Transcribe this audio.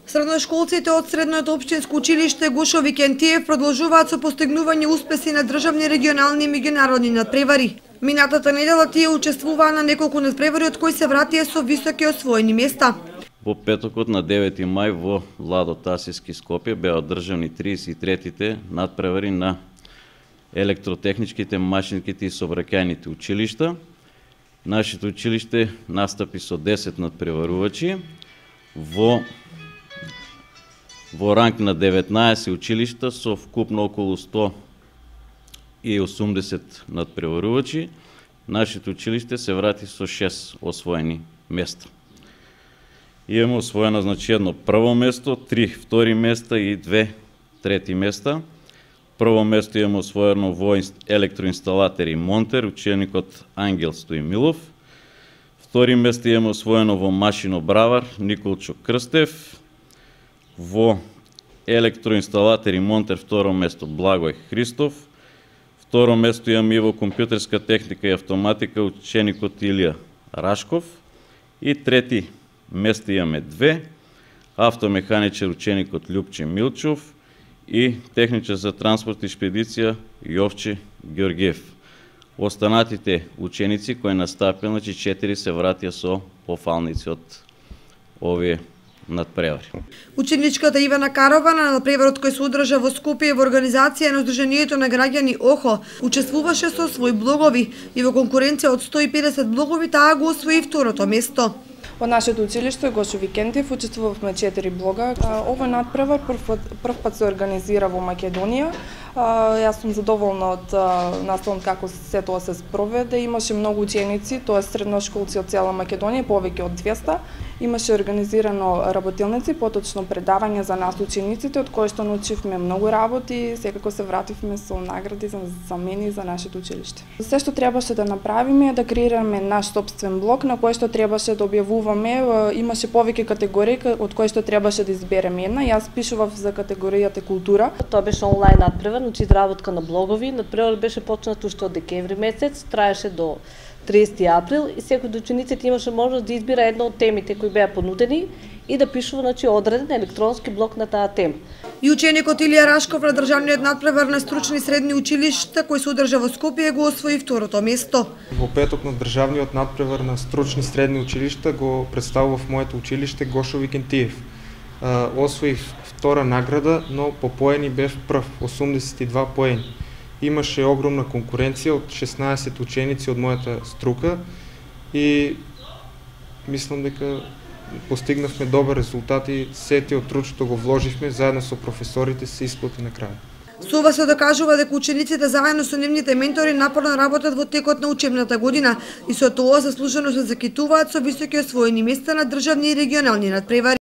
Средношколците од Средното општинско училиште Гошо Викентиев продолжуваат со постигнување успеси на државни, регионални и меѓународни надпревари. Минатата недела тие учествуваа на неколку надпревари од кои се вратија со високи освоени места. Во петокот на 9 мај во Владо Тасиски Скопје беа одржани 33-тите надпревари на електротехничките, машинските и сообраќајните училишта. Нашето училиште настапи со 10 надпреварувачи во ранг на 19 училишта со вкупно околу 180 надпреварувачи. Нашето училиште се врати со 6 освоени места. Имаме освоено едно прво место, 3 втори места и 2 трети места. Прво место имаме освоено во електроинсталатер и монтер, ученикот Ангел Стоимилов. Втори место имаме освоено во машинобравар Николчо Крстев. Во електроинсталатер и монтер второ место Благој Христов. Второ место имаме и во компјутерска техника и автоматика ученикот Илија Рашков. И трети место имаме 2, автомеханичар ученикот Љупче Милчов и техничар за транспорт и шпедиција Јовче Ѓоргиев. Останатите ученици кои настапија, 4 се вратија со пофалници од овие надпревари. Ученичката Ивана Карова на надпреварот кој се одржа во Скопје во организација на Сдруженијето на граѓани ОХО учествуваше со своји блогови и во конкуренција од 150 блогови таа го освои второто место. Во нашето училиште Гошо Викентиев учествувавме 4 блога. Овој надпревар прв пат се организира во Македонија. Јас сум задоволна од наставот како се тоа се спроведе. Имаше многу ученици, тоа средношколци од цела Македонија, повеќе од 200. Имаше организирано работилници, поточно предавање за нас учениците, од кои што научивме многу работи, секако се вративме со награди за мене и за нашето училиште. Се што требаше да направиме е да креираме наш сопствен блог на кој што требаше да објавуваме, имаше повеќе категории од кои што требаше да избереме една. Јас пишував за категоријата култура. Тоа беше онлайн надпревар, значи изработка на блогови. Надпревар беше почнат уште од декември месец, траеше до 30 април и секој од учениците имаше можност да избира една од темите кои беа понудени и да пишува, значи, одреден електронски блок на таа тема. И ученикот Илија Рашков на државниот надпревар на стручни средни училишта кој се одржа во Скопје го освои второто место. Во петок на државниот надпревар на стручни средни училишта го представував моето училиште Гошо Викентиев. Освоив втора награда, но по поени бев прв, 82 поени. Имаше огромна конкуренција од 16 ученици од мојата струка и мислам дека постигнавме добар резултат и сети од трудството го вложивме заедно со професорите се исплати на крај. Со ова се докажува дека учениците заедно со нивните ментори напорно работат во текот на учебната година и со тоа заслужено се закитуваат со високи освоени места на државни и регионални надпревари.